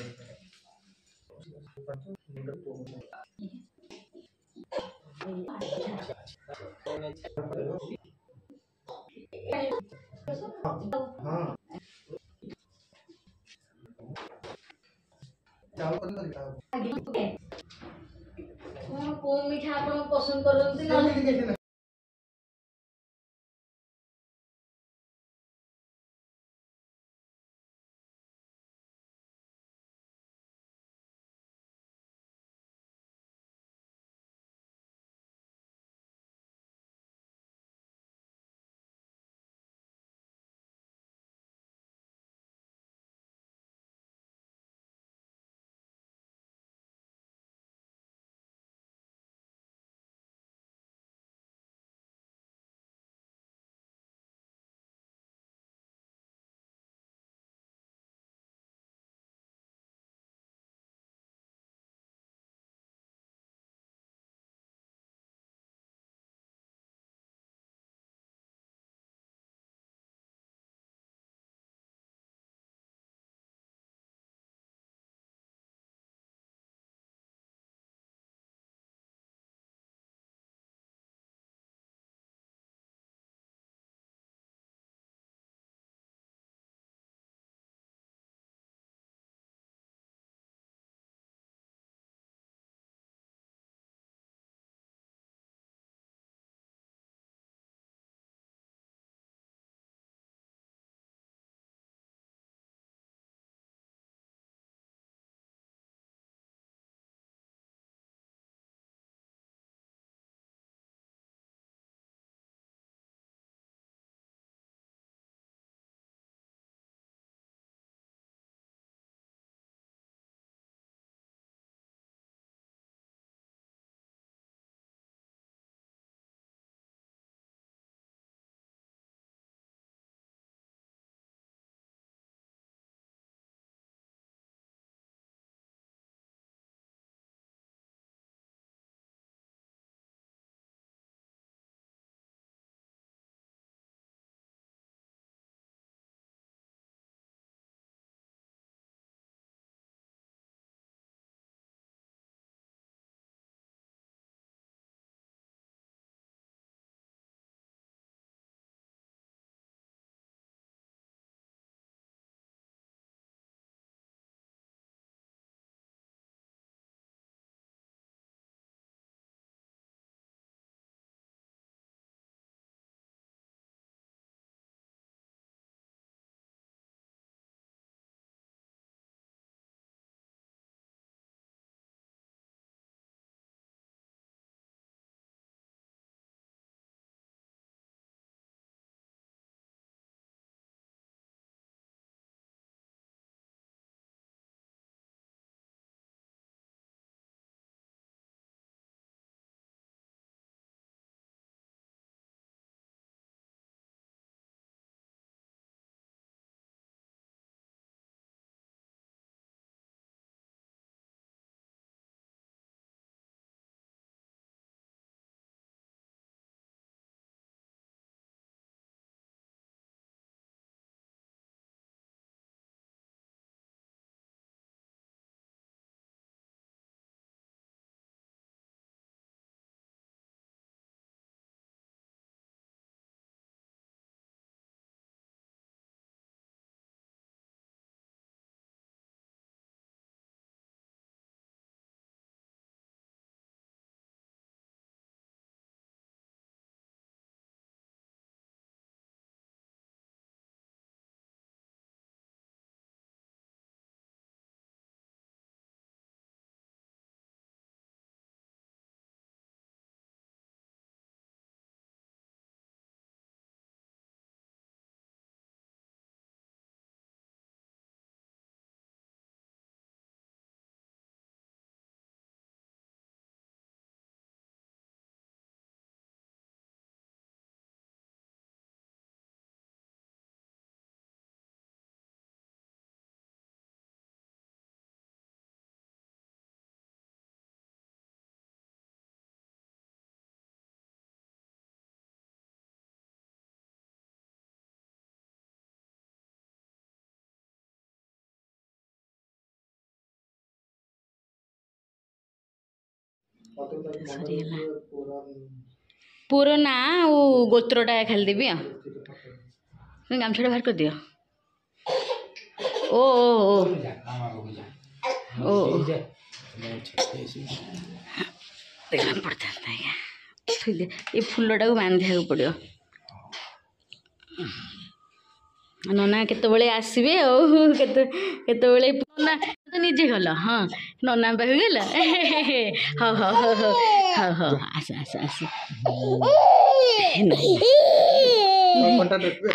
ହଁ, ଚାଉଳ। କଣ, କୋଉ ମିଠା ଆପଣ ପସନ୍ଦ କରନ୍ତି ନହେଲେ? ସେମିତି କିଛି ନାହିଁ। ସରିଗଲା। ପୁଅର ନାଁ ଆଉ ଗୋତ୍ରଟା ଖାଲି ଦେବି। ଆଉ ଗାମୁଛାଟା ବାହାର କରିଦିଅ। ଓ ଓ ଓ ଓ ପଡ଼ିଥାନ୍ତା ଆଜ୍ଞା। ଏ ଫୁଲଟାକୁ ବାନ୍ଧିବାକୁ ପଡ଼ିବ। ନନା କେତେବେଳେ ଆସିବେ ଆଉ କେତେ କେତେବେଳେ? ନନା ତ ନିଜେ ଗଲ। ହଁ, ନନା ପାଖକୁ ଗଲ। ହଉ ହଉ ହଉ ହଉ ହଉ ହଉ, ଆସ ଆସ ଆସ।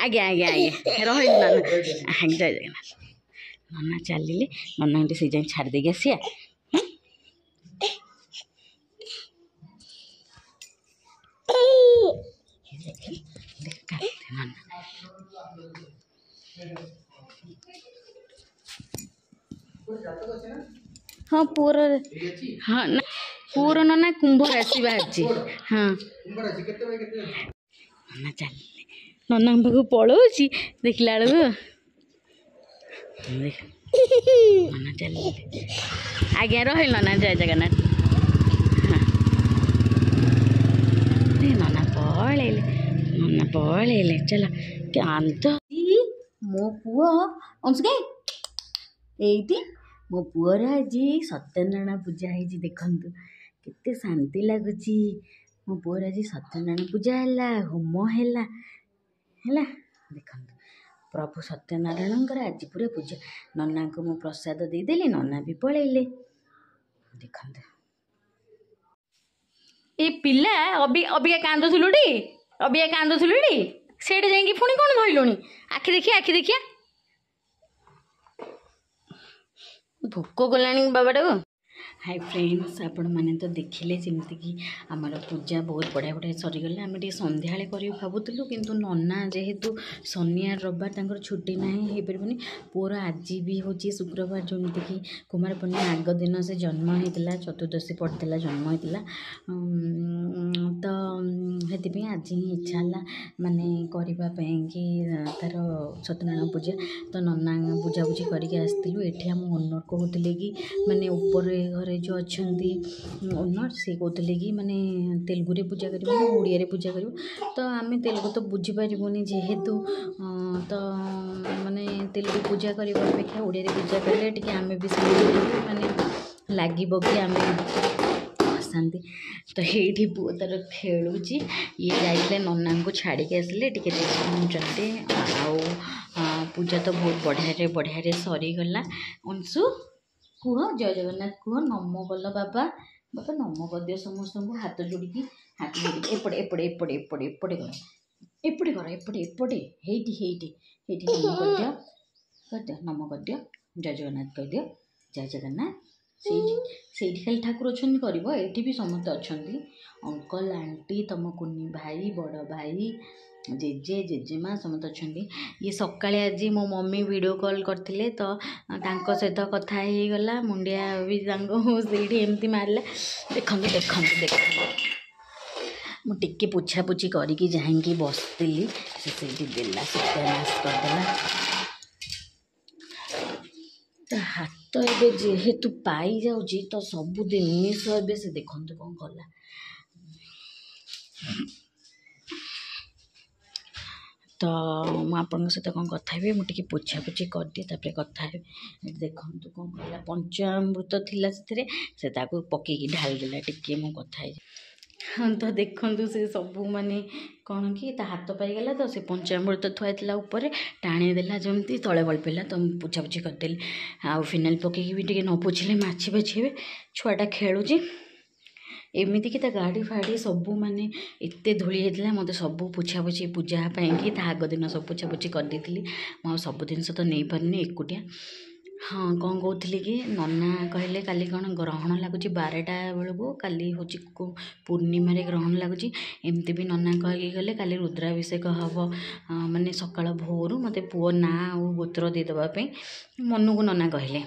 ଆଜ୍ଞା ଆଜ୍ଞା ଆଜ୍ଞା, ରହିଲି ନନା। ଆଜ୍ଞା, ଜୟ ଜଗନ୍ନାଥ। ନନା ଚାଲିଲେ, ନନାଙ୍କୁ ଟିକେ ସେଇ ଯାଏଁ ଛାଡ଼ି ଦେଇକି ଆସିବା। ନନା ହଁ, ପୁଅର ହଁ ନା, ପୁଅର ନନା କୁମ୍ଭ ରାଶି ବାହାରିଛି। ହଁ, ନନା ଚାଲିଲେ, ନନାଙ୍କ ପାଖକୁ ପଳଉଛି ଦେଖିଲା ବେଳକୁ। ନନା ଚାଲିଲେ। ଆଜ୍ଞା, ରହିଲ ନନା, ଜୟ ଜଗନ୍ନାଥ। ହଁ, ନନା ପଳେଇଲେ, ନନା ପଳେଇଲେ। ଚାଲ କାନ୍ଦ। ମୋ ପୁଅ ଅଂଶୁ କାଇଁ? ଏଇଠି ମୋ ପୁଅର ଆଜି ସତ୍ୟନାରାୟଣ ପୂଜା ହେଇଛି। ଦେଖନ୍ତୁ କେତେ ଶାନ୍ତି ଲାଗୁଛି। ମୋ ପୁଅର ଆଜି ସତ୍ୟନାରାୟଣ ପୂଜା ହେଲା, ହୋମ ହେଲା ହେଲା। ଦେଖନ୍ତୁ, ପ୍ରଭୁ ସତ୍ୟନାରାୟଣଙ୍କର ଆଜି ପୁରା ପୂଜା। ନନାଙ୍କୁ ମୁଁ ପ୍ରସାଦ ଦେଇଦେଲି, ନନା ବି ପଳେଇଲେ। ଦେଖନ୍ତୁ ଏ ପିଲା। ଅବି ଅବିକା କାନ୍ଦୁଥିଲୁଟି, ଅବିକା କାନ୍ଦୁଥିଲୁଟି, ସେଇଠି ଯାଇକି ପୁଣି କ'ଣ ଧଇଲୁଣି? ଆଖି ଦେଖିଆ, ଆଖି ଦେଖିଆ। ଭୋକ କଲାଣି ବାବାଟାକୁ। ହାଇ ଫ୍ରେଣ୍ଡସ୍, ଆପଣମାନେ ତ ଦେଖିଲେ ଯେମିତିକି ଆମର ପୂଜା ବହୁତ ବଢ଼ିଆ ବଢ଼ିଆ ସରିଗଲା। ଆମେ ଟିକେ ସନ୍ଧ୍ୟାବେଳେ କରିବୁ ଭାବୁଥିଲୁ, କିନ୍ତୁ ନନା ଯେହେତୁ ଶନିବାର ରବିବାର ତାଙ୍କର ଛୁଟି ନାହିଁ, ହେଇପାରିବନି। ପୁଅର ଆଜି ବି ହେଉଛି ଶୁକ୍ରବାର, ଯେମିତିକି କୁମାର ପୂର୍ଣ୍ଣିମା ଆଗ ଦିନ ସେ ଜନ୍ମ ହେଇଥିଲା, ଚତୁର୍ଦ୍ଦଶୀ ପଡ଼ିଥିଲା ଜନ୍ମ ହେଇଥିଲା। ତ ସେଥିପାଇଁ ଆଜି ହିଁ ଇଚ୍ଛା ହେଲା ମାନେ କରିବା ପାଇଁକି ତା'ର ସତ୍ୟନାରାୟଣ ପୂଜା। ତ ନନା ବୁଝାବୁଝି କରିକି ଆସିଥିଲୁ। ଏଠି ଆମ ଓନର୍ କହୁଥିଲେ କି ମାନେ ଉପରେ ଘରେ ଯେଉଁ ଅଛନ୍ତି ଓନର୍, ସିଏ କହୁଥିଲେ କି ମାନେ ତେଲୁଗୁରେ ପୂଜା କରିବୁ ନା ଓଡ଼ିଆରେ ପୂଜା କରିବୁ? ତ ଆମେ ତେଲୁଗୁ ତ ବୁଝିପାରିବୁନି ଯେହେତୁ, ତ ମାନେ ତେଲୁଗୁ ପୂଜା କରିବା ଅପେକ୍ଷା ଓଡ଼ିଆରେ ପୂଜା କଲେ ଟିକେ ଆମେ ବି ମାନେ ଲାଗିବ କି ଆମେ ଶାନ୍ତି। ତ ଏଇଠି ପୁଅ ତା'ର ଖେଳୁଛି। ଇଏ ଯାଇଥିଲେ ନନାଙ୍କୁ ଛାଡ଼ିକି ଆସିଲେ, ଟିକେ ରେଷ୍ଟ ନେଉଛନ୍ତି। ଆଉ ପୂଜା ତ ବହୁତ ବଢ଼ିଆରେ ବଢ଼ିଆରେ ସରିଗଲା। ଅଂଶୁ, କୁହ ଜୟ ଜଗନ୍ନାଥ, କୁହ ନମ କଲ। ବାବା, ବାବା, ନମ କରିଦିଅ ସମସ୍ତଙ୍କୁ ହାତ ଯୋଡ଼ିକି, ହାତ ଯୋଡ଼ିକି। ଏପଟେ ଏପଟେ ଏପଟେ ଏପଟେ ଏପଟେ କର, ଏପଟେ କର, ଏପଟେ ଏପଟେ, ହେଇଠି ହେଇଠି ହେଇଠି ନମ କରିଦିଅ, କରିଦିଅ, ନମ କରିଦିଅ, ଜୟ ଜଗନ୍ନାଥ କହିଦିଅ, ଜୟ ଜଗନ୍ନାଥ। ସେଇଠି ସେଇଠି ଖାଲି ଠାକୁର ଅଛନ୍ତି କରିବ? ଏଇଠି ବି ସମସ୍ତେ ଅଛନ୍ତି, ଅଙ୍କଲ, ଆଣ୍ଟି, ତମ କୁନି ଭାଇ, ବଡ଼ ଭାଇ, ଜେଜେ, ଜେଜେମା ସମସ୍ତେ ଅଛନ୍ତି। ଇଏ ସକାଳେ ଆଜି ମୋ ମମି ଭିଡ଼ିଓ କଲ୍ କରିଥିଲେ, ତ ତାଙ୍କ ସହିତ କଥା ହେଇଗଲା। ମୁଣ୍ଡିଆ ବି ତାଙ୍କୁ ସେଇଠି ଏମିତି ମାରିଲା। ଦେଖନ୍ତୁ ଦେଖନ୍ତୁ ଦେଖନ୍ତୁ, ମୁଁ ଟିକେ ପୋଛାପୋଛି କରିକି ଯାଇକି ବସିଥିଲି, ସେ ସେଇଠି ଦେଲା, ସତ୍ୟାନାଶ କରିଦେଲା। ତା ହାତ ଏବେ ଯେହେତୁ ପାଇଯାଉଛି, ତ ସବୁ ଜିନିଷ ଏବେ ସେ ଦେଖନ୍ତୁ କ'ଣ କଲା। ତ ମୁଁ ଆପଣଙ୍କ ସହିତ କ'ଣ କଥା ହେବି, ମୁଁ ଟିକେ ପୋଛାପୋଛି କରିଦିଏ, ତାପରେ କଥା ହେବି। ଏଠି ଦେଖନ୍ତୁ କ'ଣ କଲା। ପଞ୍ଚାମୃତ ଥିଲା ସେଥିରେ, ସେ ତାକୁ ପକେଇକି ଢାଳିଦେଲା। ଟିକେ ମୁଁ କଥା ହେଇଛି। ହଁ, ତ ଦେଖନ୍ତୁ ସେ ସବୁ ମାନେ କ'ଣ କି ତା ହାତ ପାଇଗଲା, ତ ସେ ପଞ୍ଚାମୃତ ଥୁଆ ହେଇଥିଲା ଉପରେ, ଟାଣିଦେଲା ଯେମିତି ତଳେ ଗଳି ପଡ଼ିଲା। ତ ମୁଁ ପୋଛାପୋଛି କରିଦେଲି। ଆଉ ଫିନାଇଲ୍ ପକେଇକି ବି ଟିକେ ନ ପୋଛିଲେ ମାଛି ଫାଛି ହେବେ। ଛୁଆଟା ଖେଳୁଛି ଏମିତିକି ତା ଗାଡ଼ି ଫାଡ଼ି ସବୁ ମାନେ ଏତେ ଧୂଳି ହେଇଥିଲା। ମୋତେ ସବୁ ପୋଛାପୋଛି ପୂଜା ପାଇଁକି ତା ଆଗ ଦିନ ସବୁ ପୋଛାପୋଛି କରିଦେଇଥିଲି। ମୁଁ ଆଉ ସବୁ ଜିନିଷ ତ ନେଇପାରୁନି ଏକୁଟିଆ। ହଁ, କ'ଣ କହୁଥିଲି କି ନନା କହିଲେ କାଲି କ'ଣ ଗ୍ରହଣ ଲାଗୁଛି 12ଟା ବେଳକୁ। କାଲି ହେଉଛି ପୂର୍ଣ୍ଣିମାରେ ଗ୍ରହଣ ଲାଗୁଛି। ଏମିତି ବି ନନା କହିକି ଗଲେ କାଲି ରୁଦ୍ରାଭିଷେକ ହେବ, ମାନେ ସକାଳ ଭୋରୁ ମୋତେ ପୁଅ ନାଁ ଆଉ ଗୋତ୍ର ଦେଇଦେବା ପାଇଁ ମନୁକୁ ନନା କହିଲେ।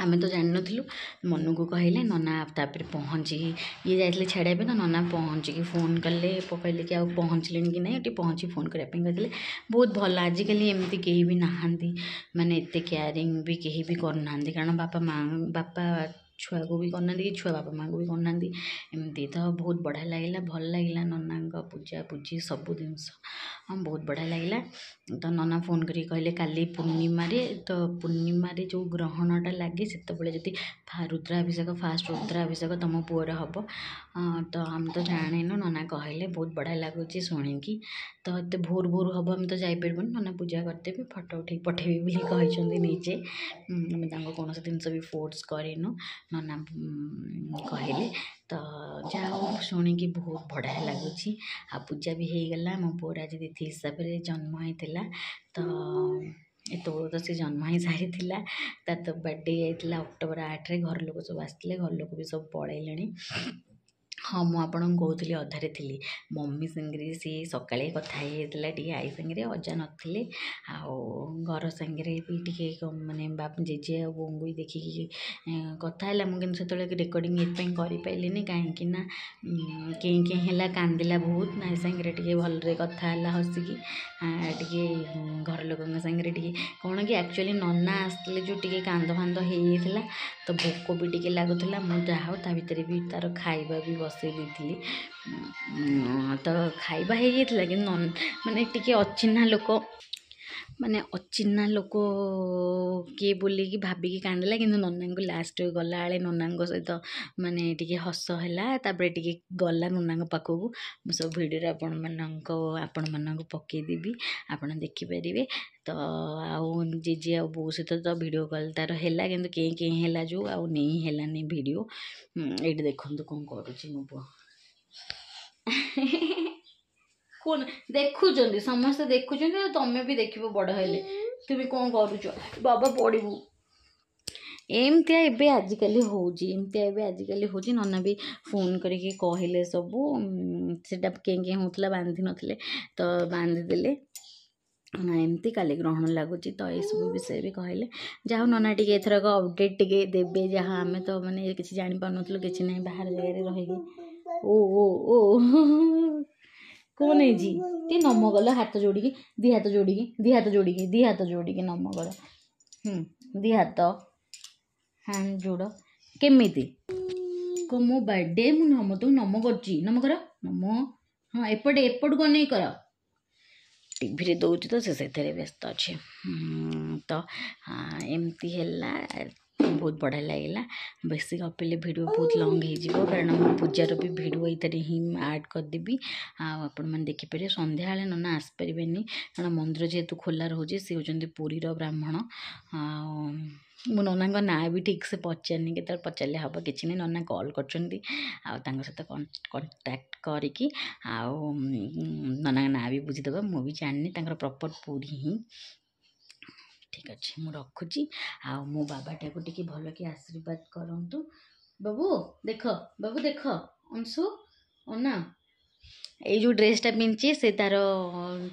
ଆମେ ତ ଜାଣିନଥିଲୁ, ମନୁକୁ କହିଲେ ନନା। ତାପରେ ପହଞ୍ଚିକି ଇଏ ଯାଇଥିଲେ ଛାଡ଼ିବା ପାଇଁ, ତ ନନା ପହଞ୍ଚିକି ଫୋନ୍ କଲେ, କହିଲେ କି ଆଉ ପହଞ୍ଚିଲେଣି କି ନାହିଁ। ଏଠି ପହଞ୍ଚି ଫୋନ୍ କରିବା ପାଇଁ କହିଥିଲେ। ବହୁତ ଭଲ, ଆଜିକାଲି ଏମିତି କେହି ବି ନାହାନ୍ତି, ମାନେ ଏତେ କେୟାରିଂ ବି କେହି ବି କରୁନାହାନ୍ତି। କାରଣ ବାପା ମା ବାପା ଛୁଆକୁ ବି କରୁନାହାନ୍ତି କି ଛୁଆ ବାପା ମାଆଙ୍କୁ ବି କରୁନାହାନ୍ତି। ଏମିତି ତ ବହୁତ ବଢ଼ିଆ ଲାଗିଲା, ଭଲ ଲାଗିଲା ନନାଙ୍କ ପୂଜା ପୂଜି ସବୁ ଜିନିଷ ବହୁତ ବଢ଼ିଆ ଲାଗିଲା। ତ ନନା ଫୋନ୍ କରିକି କହିଲେ କାଲି ପୂର୍ଣ୍ଣିମାରେ, ତ ପୂର୍ଣ୍ଣିମାରେ ଯେଉଁ ଗ୍ରହଣଟା ଲାଗେ ସେତେବେଳେ ଯଦି ରୁଦ୍ରାଭିଷେକ, ଫାଷ୍ଟ ରୁଦ୍ରାଭିଷେକ ତୁମ ପୁଅର ହେବ। ତ ଆମେ ତ ଜାଣିନୁ, ନନା କହିଲେ ବହୁତ ବଢ଼ିଆ ଲାଗୁଛି ଶୁଣିକି। ତ ଏତେ ଭୋରୁ ଭୋରୁ ହେବ ଆମେ ତ ଯାଇପାରିବୁନି, ନନା ପୂଜା କରିଦେବେ, ଫଟୋ ଉଠେଇକି ପଠେଇବି ବୋଲି କହିଛନ୍ତି ନିଜେ। ଆମେ ତାଙ୍କୁ କୌଣସି ଜିନିଷ ବି ଫୋର୍ସ କରିନୁ, ନନା କହିଲେ। ତ ଯାହା ହଉ ଶୁଣିକି ବହୁତ ବଢ଼ିଆ ଲାଗୁଛି। ଆଉ ପୂଜା ବି ହେଇଗଲା। ମୋ ପୁଅର ଆଜି ତିଥି ହିସାବରେ ଜନ୍ମ ହେଇଥିଲା, ତ ଏତେବେଳକୁ ତ ସେ ଜନ୍ମ ହେଇ ସାରିଥିଲା। ତାର ତ ବର୍ଥଡ଼େ ଯାଇଥିଲା ଅକ୍ଟୋବର 8ରେ। ଘର ଲୋକ ସବୁ ଆସିଥିଲେ, ଘର ଲୋକ ବି ସବୁ ପଳେଇଲେଣି। ହଁ, ମୁଁ ଆପଣଙ୍କୁ କହୁଥିଲି, ଅଧାରେ ଥିଲି, ମମି ସାଙ୍ଗରେ ସିଏ ସକାଳେ କଥା ହେଇଯାଇଥିଲା ଟିକେ, ଆଈ ସାଙ୍ଗରେ, ଅଜା ନଥିଲେ। ଆଉ ଘର ସାଙ୍ଗରେ ବି ଟିକେ ମାନେ ଜେଜେ ଆଉ ବୋଉଙ୍କୁ ବି ଦେଖିକି କଥା ହେଲା। ମୁଁ କିନ୍ତୁ ସେତେବେଳେ ରେକର୍ଡ଼ିଂ ଏଥିପାଇଁ କରିପାରିଲିନି କାହିଁକି ନା କେଁ କେଁ ହେଲା, କାନ୍ଦିଲା ବହୁତ। ଆଈ ସାଙ୍ଗରେ ଟିକେ ଭଲରେ କଥା ହେଲା ହସିକି ଟିକେ, ଘର ଲୋକଙ୍କ ସାଙ୍ଗରେ ଟିକେ କ'ଣ କି ଆକ୍ଚୁଆଲି ନନା ଆସିଥିଲେ ଯେଉଁ ଟିକେ କାନ୍ଦ ଫାନ୍ଦ ହେଇଯାଇଥିଲା, ତ ଭୋକ ବି ଟିକେ ଲାଗୁଥିଲା। ମୁଁ ଯାହା ହଉ ତା ଭିତରେ ବି ତା'ର ଖାଇବା ବି ବସେଇ ଦେଇଥିଲି। ତ ଖାଇବା ହେଇଯାଇଥିଲା, କିନ୍ତୁ ମାନେ ଟିକେ ଅଚିହ୍ନା ଲୋକ, ମାନେ ଅଚିହ୍ନା ଲୋକ କିଏ ବୋଲିକି ଭାବିକି କାନ୍ଦିଲା। କିନ୍ତୁ ନନାଙ୍କୁ ଲାଷ୍ଟ ଗଲାବେଳେ ନନାଙ୍କ ସହିତ ମାନେ ଟିକେ ହସ ହେଲା, ତାପରେ ଟିକେ ଗଲା ନନାଙ୍କ ପାଖକୁ। ମୁଁ ସବୁ ଭିଡ଼ିଓରେ ଆପଣମାନଙ୍କୁ ପକେଇଦେବି, ଆପଣ ଦେଖିପାରିବେ। ତ ଆଉ ଜେଜେ ଆଉ ବୋଉ ସହିତ ତ ଭିଡ଼ିଓ କଲ୍ ତା'ର ହେଲା, କିନ୍ତୁ କେଁ କେଁ ହେଲା ଯେଉଁ ଆଉ ନେଇ ହେଲାନି ଭିଡ଼ିଓ। ଏଇଠି ଦେଖନ୍ତୁ କ'ଣ କରୁଛି ମୋ ପୁଅ। କ'ଣ ଦେଖୁଛନ୍ତି ସମସ୍ତେ ଦେଖୁଛନ୍ତି, ଆଉ ତମେ ବି ଦେଖିବ ବଡ଼ ହେଲେ। ତୁମେ କ'ଣ କରୁଛ ବାବା, ପଡ଼ିବୁ। ଏମିତିଆ ଏବେ ଆଜିକାଲି ହେଉଛି, ଏମିତିଆ ଏବେ ଆଜିକାଲି ହେଉଛି। ନନା ବି ଫୋନ୍ କରିକି କହିଲେ ସବୁ। ସେଇଟା କେଁ କେଁ ହେଉଥିଲା, ବାନ୍ଧି ନଥିଲେ ତ ବାନ୍ଧିଦେଲେ। ଏମିତି କାଲି ଗ୍ରହଣ ଲାଗୁଛି, ତ ଏସବୁ ବିଷୟ ବି କହିଲେ। ଯାହା ହଉ ନନା ଟିକେ ଏଥରକ ଅପଡ଼େଟ୍ ଟିକେ ଦେବେ, ଯାହା ଆମେ ତ ମାନେ କିଛି ଜାଣିପାରୁନଥିଲୁ, କିଛି ନାହିଁ ବାହାର ଜାଗାରେ ରହିକି। ଓ ଓ ଓ, କ'ଣ ହେଇଛି? ଟିକେ ନମ କଲ, ହାତ ଯୋଡ଼ିକି, ଦି ହାତ ଯୋଡ଼ିକି, ଦି ହାତ ଯୋଡ଼ିକି, ଦି ହାତ ଯୋଡ଼ିକି ନମ କର। ଦି ହାତ ହ୍ୟାଣ୍ଡ ଯୋଡ଼। କେମିତି କହ, ମୋ ବାର୍ଥଡ଼େ, ମୁଁ ନମ ତୁ ନମ କରୁଛି, ନମ କର, ନମ। ହଁ, ଏପଟେ ଏପଟକୁ ଅନେଇ କର। ଟିଭିରେ ଦେଉଛି ତ ସେ ସେଥିରେ ବ୍ୟସ୍ତ ଅଛି। ତ ଏମିତି ହେଲା, ବହୁତ ବଢ଼ିଆ ଲାଗିଲା। ବେଶୀ ଗପିଲେ ଭିଡ଼ିଓ ବହୁତ ଲଙ୍ଗ୍ ହେଇଯିବ, କାରଣ ମୁଁ ପୂଜାର ବି ଭିଡ଼ିଓ ଏଇଥିରେ ହିଁ ଆଡ଼୍ କରିଦେବି ଆଉ ଆପଣମାନେ ଦେଖିପାରିବେ। ସନ୍ଧ୍ୟାବେଳେ ନନା ଆସିପାରିବେନି, କାରଣ ମନ୍ଦିର ଯେହେତୁ ଖୋଲା ରହୁଛି। ସେ ହେଉଛନ୍ତି ପୁରୀର ବ୍ରାହ୍ମଣ। ଆଉ ମୁଁ ନନାଙ୍କ ନାଁ ବି ଠିକ୍ ସେ ପଚାରିନି, କେତେବେଳେ ପଚାରିଲେ ହେବ, କିଛି ନାହିଁ। ନନା କଲ୍ କରିଛନ୍ତି ଆଉ ତାଙ୍କ ସହିତ କଣ୍ଟାକ୍ଟ କରିକି ଆଉ ନନାଙ୍କ ନାଁ ବି ବୁଝିଦେବା। ମୁଁ ବି ଜାଣିନି ତାଙ୍କର ପ୍ରପର୍ ପୁରୀ ହିଁ। ଠିକ୍ ଅଛି, ମୁଁ ରଖୁଛି। ଆଉ ମୋ ବାବାଟାକୁ ଟିକେ ଭଲକି ଆଶୀର୍ବାଦ କରନ୍ତୁ। ବାବୁ ଦେଖ, ବାବୁ ଦେଖ, ଅଂଶୁ ଅନା। ଏଇ ଯେଉଁ ଡ୍ରେସ୍ଟା ପିନ୍ଧିଛି, ସେ ତା'ର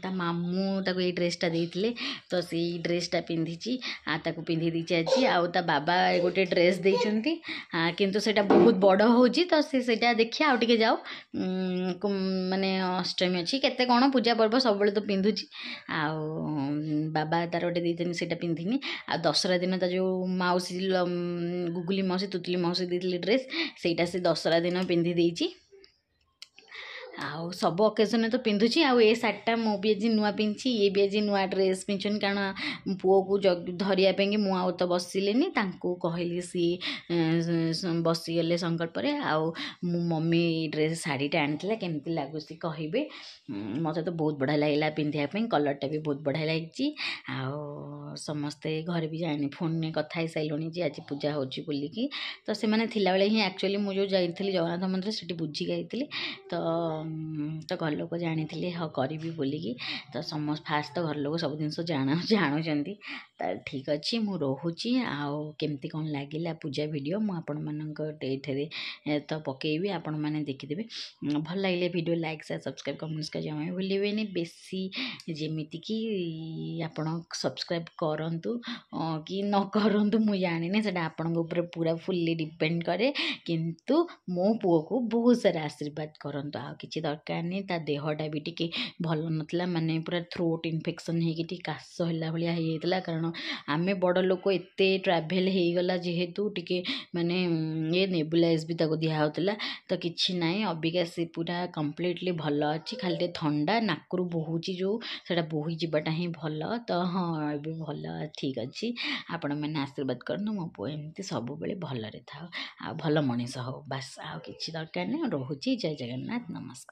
ତା ମାମୁଁ ତାକୁ ଏଇ ଡ୍ରେସ୍ଟା ଦେଇଥିଲେ, ତ ସେଇ ଡ୍ରେସ୍ଟା ପିନ୍ଧିଛି ଆଉ ତାକୁ ପିନ୍ଧେଇ ଦେଇଛି ଆଜି। ଆଉ ତା ବାବା ଗୋଟେ ଡ୍ରେସ୍ ଦେଇଛନ୍ତି, କିନ୍ତୁ ସେଇଟା ବହୁତ ବଡ଼ ହେଉଛି, ତ ସେ ସେଇଟା ଦେଖିବା ଆଉ ଟିକେ ଯାଉ, ମାନେ ଅଷ୍ଟମୀ ଅଛି, କେତେ କ'ଣ ପୂଜା ପର୍ବ ସବୁବେଳେ ତ ପିନ୍ଧୁଛି। ଆଉ ବାବା ତାର ଗୋଟେ ଦେଇଛନ୍ତି, ସେଇଟା ପିନ୍ଧିନି। ଆଉ ଦଶହରା ଦିନ ତା ଯେଉଁ ମାଉସୀ, ଗୁଗୁଲି ମାଉସୀ, ତୁତୁଲି ମାଉସୀ ଦେଇଥିଲେ ଡ୍ରେସ୍, ସେଇଟା ସେ ଦଶହରା ଦିନ ପିନ୍ଧି ଦେଇଛି। ଆଉ ସବୁ ଅକେଜନ୍ରେ ତ ପିନ୍ଧୁଛି। ଆଉ ଏ ଶାଢ଼ୀଟା ମୁଁ ବି ଆଜି ନୂଆ ପିନ୍ଧିଛି, ଇଏ ବି ଆଜି ନୂଆ ଡ୍ରେସ୍ ପିନ୍ଧିଛନ୍ତି, କାରଣ ପୁଅକୁ ଧରିବା ପାଇଁକି ମୁଁ ଆଉ ତ ବସିଲିନି, ତାଙ୍କୁ କହିଲି, ସିଏ ବସିଗଲେ ସଂକଳ୍ପରେ। ଆଉ ମୁଁ ମମି ଡ୍ରେସ୍ ଶାଢ଼ୀଟା ଆଣିଥିଲା, କେମିତି ଲାଗୁଛି କହିବେ। ମୋତେ ତ ବହୁତ ବଢ଼ିଆ ଲାଗିଲା ପିନ୍ଧିବା ପାଇଁ, କଲର୍ଟା ବି ବହୁତ ବଢ଼ିଆ ଲାଗିଛି। ଆଉ ସମସ୍ତେ ଘରେ ବି ଜାଣି ଫୋନ୍ରେ କଥା ହେଇସାରିଲୁଣି ଯେ ଆଜି ପୂଜା ହେଉଛି ବୋଲିକି। ତ ସେମାନେ ଥିଲାବେଳେ ହିଁ ଆକ୍ଚୁଆଲି ମୁଁ ଯେଉଁ ଯାଇଥିଲି ଜଗନ୍ନାଥ ମନ୍ଦିର, ସେଠି ବୁଝିକି ଯାଇଥିଲି, ତ ଘର ଲୋକ ଜାଣିଥିଲେ ହଁ କରିବି ବୋଲିକି। ତ ସମସ୍ତ ଫାଷ୍ଟ ତ ଘର ଲୋକ ସବୁ ଜିନିଷ ଜାଣୁଛନ୍ତି। ତ ଠିକ୍ ଅଛି, ମୁଁ ରହୁଛି। ଆଉ କେମିତି କ'ଣ ଲାଗିଲା ପୂଜା ଭିଡ଼ିଓ ମୁଁ ଆପଣମାନଙ୍କ ଏଇଠାରେ ତ ପକେଇବି, ଆପଣମାନେ ଦେଖିଦେବେ। ଭଲ ଲାଗିଲେ video like, share, subscribe, comments କରି ଜମା ବି ଭୁଲିବେନି। ବେଶୀ ଯେମିତିକି ଆପଣ ସବସ୍କ୍ରାଇବ୍ କରନ୍ତୁ କି ନ କରନ୍ତୁ ମୁଁ ଜାଣିନି, ସେଇଟା ଆପଣଙ୍କ ଉପରେ ପୁରା ଫୁଲି ଡିପେଣ୍ଡ କରେ, କିନ୍ତୁ ମୋ ପୁଅକୁ ବହୁତ ସାରା ଆଶୀର୍ବାଦ କରନ୍ତୁ। ଆଉ କିଛି କିଛି ଦରକାର ନାହିଁ। ତା ଦେହଟା ବି ଟିକେ ଭଲ ନଥିଲା, ମାନେ ପୁରା ଥ୍ରୋଟ୍ ଇନଫେକ୍ସନ୍ ହେଇକି ଟିକେ କାଶ ହେଲା ଭଳିଆ ହେଇଯାଇଥିଲା। କାରଣ ଆମେ ବଡ଼ ଲୋକ ଏତେ ଟ୍ରାଭେଲ୍ ହେଇଗଲା ଯେହେତୁ ଟିକେ ମାନେ ଇଏ ନେବୁଲାଇଜ୍ ବି ତାକୁ ଦିଆହେଉଥିଲା। ତ କିଛି ନାହିଁ, ଅବିକା ସେ ପୁରା କମ୍ପ୍ଲିଟଲି ଭଲ ଅଛି। ଖାଲି ଟିକେ ଥଣ୍ଡା ନାକରୁ ବୋହୁଛି ଯେଉଁ, ସେଇଟା ବୋହି ଯିବାଟା ହିଁ ଭଲ। ତ ହଁ, ଏବେ ଭଲ ଠିକ୍ ଅଛି। ଆପଣମାନେ ଆଶୀର୍ବାଦ କରନ୍ତୁ ମୋ ପୁଅ ଏମିତି ସବୁବେଳେ ଭଲରେ ଥାଉ ଆଉ ଭଲ ମଣିଷ ହଉ, ବାସ୍, ଆଉ କିଛି ଦରକାର ନାହିଁ। ରହୁଛି, ଜୟ ଜଗନ୍ନାଥ, ନମସ୍କାର।